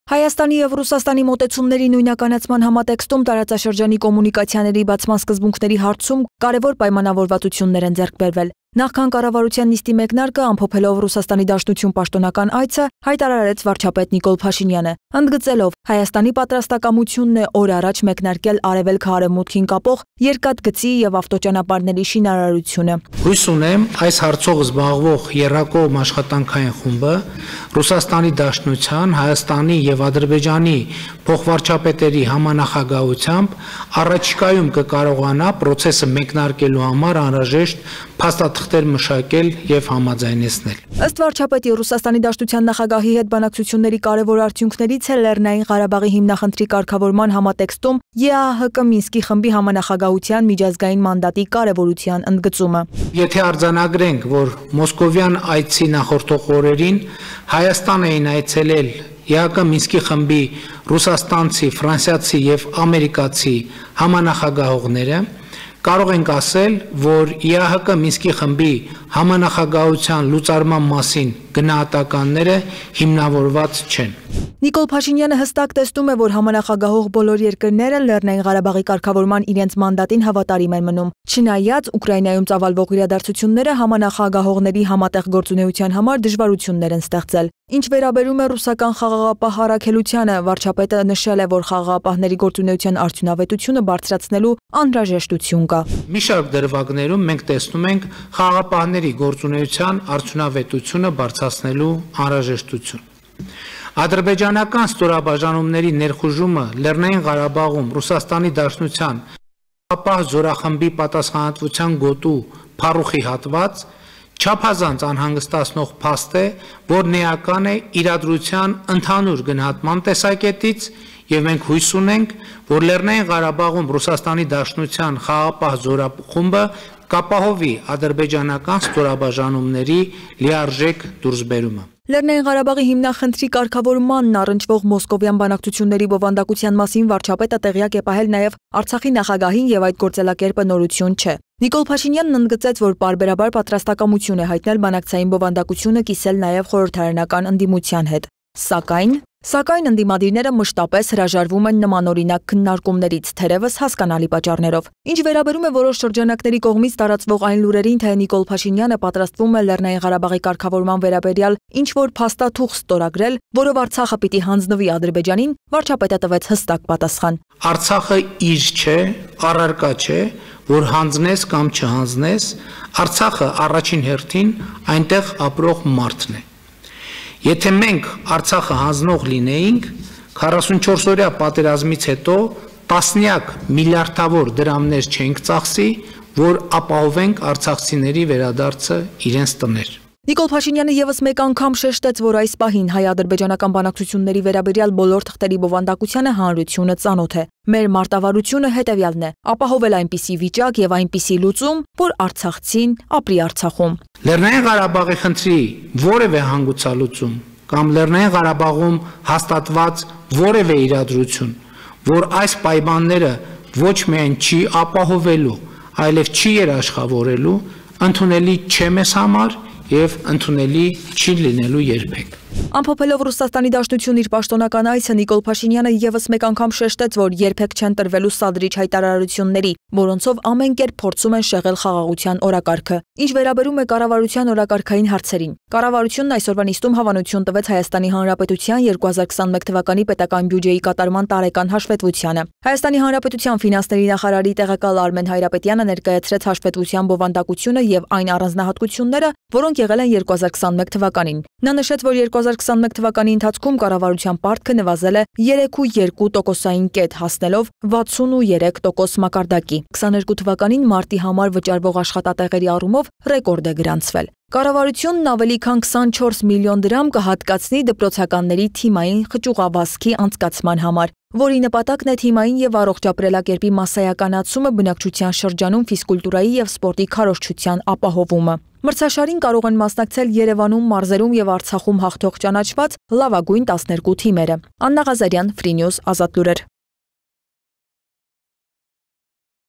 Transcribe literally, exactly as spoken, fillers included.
Հայաստանի և Ռուսաստանի մոտեցումների նույնականացման համատեքստում տարածաշրջանի կոմունիկացիաների բացման սկզբունքների հարցում կարևոր պայմանավորվածություններ են ձեռք բերվել։ Նախքան կառավարության նիստի մեկնարկը ամփոփելով Ռուսաստանի Դաշնություն պաշտոնական այցը հայտարարեց վարչապետ Նիկոլ Փաշինյանը, ընդգծելով Հայաստանի պատրաստակամությունն է օր առաջ մեկնարկել արևելքը արևմուտքին կապող երկաթգծի և ավտոճանապարհների շինարարությունը։ Հույս ունեմ, այս հարցով զբաղվող եռակողմ աշխատանքային խումբը Ռուսաստանի Դաշնության, Հայաստանի և Ադրբեջանի փոխվարչապետերի համանախագահությամբ առաջիկայում կկարողանա process-ը մեկնարկելու համար անհրաժեշտ փաստաթղթեր մշակել եւ համաձայնեցնել։ Ըստ վարչապետի Ռուսաստանի Դաշնության նախագահի հետ բանակցությունների կարևոր արդյունքներից է Լեռնային Ղարաբաղի հիմնախնդրի կարգավորման համատեքստում Է Ա Հ Կ Մինսկի խմբի համանախագահության միջազգային մանդատի կարևորության ընդգծումը։ Եթե արձանագրենք, որ մոսկովյան այցի նախորդող օրերին Հայաստան էին այցելել Է Ա Հ Կ Մինսկի խմբի ռուսաստանցի, ֆրանսիացի եւ ամերիկացի համանախագահողները, կարող ենք ասել, որ Է Ա Հ Կ Մինսկի խմբի համանախագահության լուծարման մասին գնահատականները հիմնավորված չեն։ Նիկոլ Փաշինյանը հստակ տեսնում է, որ համանախագահող բոլոր երկրները Լեռնային Ղարաբաղի կարգավորման իրենց մանդատին հավատարիմ են մնում։ Չնայած Ուկրաինայում ծավալվող իրադարձությունները համանախագահողների համատեղ գործունեության համար դժվարություններ են ստեղծել։ Ինչ վերաբերում է ռուսական խաղաղապահ առաքելությանը, վարչապետը նշել է, որ խաղաղապահների գործունեության արդյունավետությունը բարձրացնելու անհրաժեշտություն կա։ Մի շարք դրվագներում մենք տեսնում ենք խաղաղապահների գործունեության արդյունավետությունը բարձրացնելու անհրաժեշտություն։ Ադրբեջանական ստորաբաժանումների ներխուժումը Լեռնային Ղարաբաղում Ռուսաստանի Դաշնության խաղաղապահ զորախմբի պատասխանատվության գոտու փառուխի հատված չափազանց անհանգստացնող փաստ է, որն էական է իրադրության ընդհանուր գնահատման տեսակետից, եւ մենք հույս ունենք, որ Լեռնային Ղարաբաղում Ռուսաստանի Դաշնության խաղաղապահ զորախումբը կապահովի ադրբեջանական ստորաբաժանումների լիարժեք դուրսբերումը։ Լեռնային Ղարաբաղի հիմնախնդրի կարգավորմանն առնչվող մոսկովյան բանակցությունների բովանդակության մասին վարչապետը տեղյակ է պահել նաև Արցախի նախագահին եւ այդ գործելակերպը նորություն չէ։ Նիկոլ Փաշինյանն ընդգծեց, որ պարբերաբար պատրաստակամություն է հայտնել բանակցային բովանդակությունը կիսել նաև խորհրդարանական ընդդիմության հետ։ Սակայն Սակայն ընդդիմադիրները մշտապես հրաժարվում են նմանօրինակ քննարկումներից, թերևս հասկանալի պատճառներով։ Ինչ վերաբերում է որոշ շրջանակների կողմից տարածվող այն լուրերին, թե Նիկոլ Փաշինյանը պատրաստվում է Լեռնային Ղարաբաղի կարգավորման վերաբերյալ ինչ-որ փաստաթուղթ ստորագրել, որով Արցախը պիտի հանձնվի Ադրբեջանին, վարչապետը տվեց հստակ պատասխան։ Արցախը իր չէ, առարկա չէ, որ հանձնես կամ չհանձնես, Արցախը առաջին հերթին այնտեղ ապրող մարդն է։ Եթե մենք Արցախը հանձնող լինեինք, քառասունչորս-օրյա պատերազմից հետո տասնյակ միլիարդավոր դրամներ չենք ծախսի, որ ապահովենք արցախցիների վերադարձը իրենց տներ։ Նիկոլ Փաշինյանը եւս մեկ անգամ շեշտեց, որ այս պահին հայ-ադրբեջանական բանակցությունների վերաբերյալ բոլոր թղթերի բովանդակությանը հանրությունը ծանոթ է։ Մեր մարտավարությունը հետևյալն է՝ ապահովել այնպիսի վիճակ եւ այնպիսի լուծում, որ արցախցին ապրի Արցախում։ Լեռնային Ղարաբաղի խնդրի որևէ հանգուցալուծում կամ Լեռնային Ղարաբաղում հաստատված որևէ իրադրություն, որ այս պայմանները ոչ միայն չի ապահովելու, այլև չի երաշխավորելու, ընդունելի չէ մեզ համար եւ ընդունելի չի լինելու երբեք։ Ամփոփելով Ռուսաստանի Դաշնություն իր պաշտոնական այցը, Նիկոլ Փաշինյանը եւս մեկ անգամ շեշտեց, որ երբեք չեն տրվելու սադրիչ հայտարարությունների, որոնցով ամեն կերպ փորձում են շեղել խաղաղության օրակարգը։ Ինչ վերաբերում է կառավարության օրակարգային հարցերին, կառավարությունն այսօրվա նիստում հավանություն տվեց Հայաստանի Հանրապետության երկու հազար քսաներկու թվականի պետական բյուջեի կատարման տարեկան հաշվետվությանը։ Հայաստանի Հանրապետության ֆինանսների նախարարի տեղակալ Արմեն Հայրապետյանը ներկայացրեց հաշվետվության բովանդակությունը եւ այն առանձնահատկությունները, որոնք եղել են երկու հազար քսաներկու թվականին։ Նա նշեց, որ երկու հազար քսաներկու թվականի ընթացքում կառավարության պարտքը նվազել է երեք կόμμα երկու տոկոսային կետ, հասնելով վաթսունուերեք տոկոս մակարդակի։ քսաներկու թվականին մարտի համար վճարվող աշխատատեղերի առումով ռեկորդ է գրանցվել։ Կառավարությունն ավելի քան քսանչորս միլիոն դրամ կհատկացնի դպրոցականների թիմային խճուղավազքի անցկացման համար, որի նպատակն է թիմային եւ առողջ ապրելակերպի մասսայականացումը բնակչության շրջանում ֆիզկուլտուրայի եւ սպորտի քարոզչության ապահովումը։ Մրցաշարին կարող են մասնակցել Երևանում, մարզերում եւ Արցախում հաղթող ճանաչված լավագույն տասներկու թիմերը։ Աննա Ղազարյան, Free News, Ազատ լուրեր։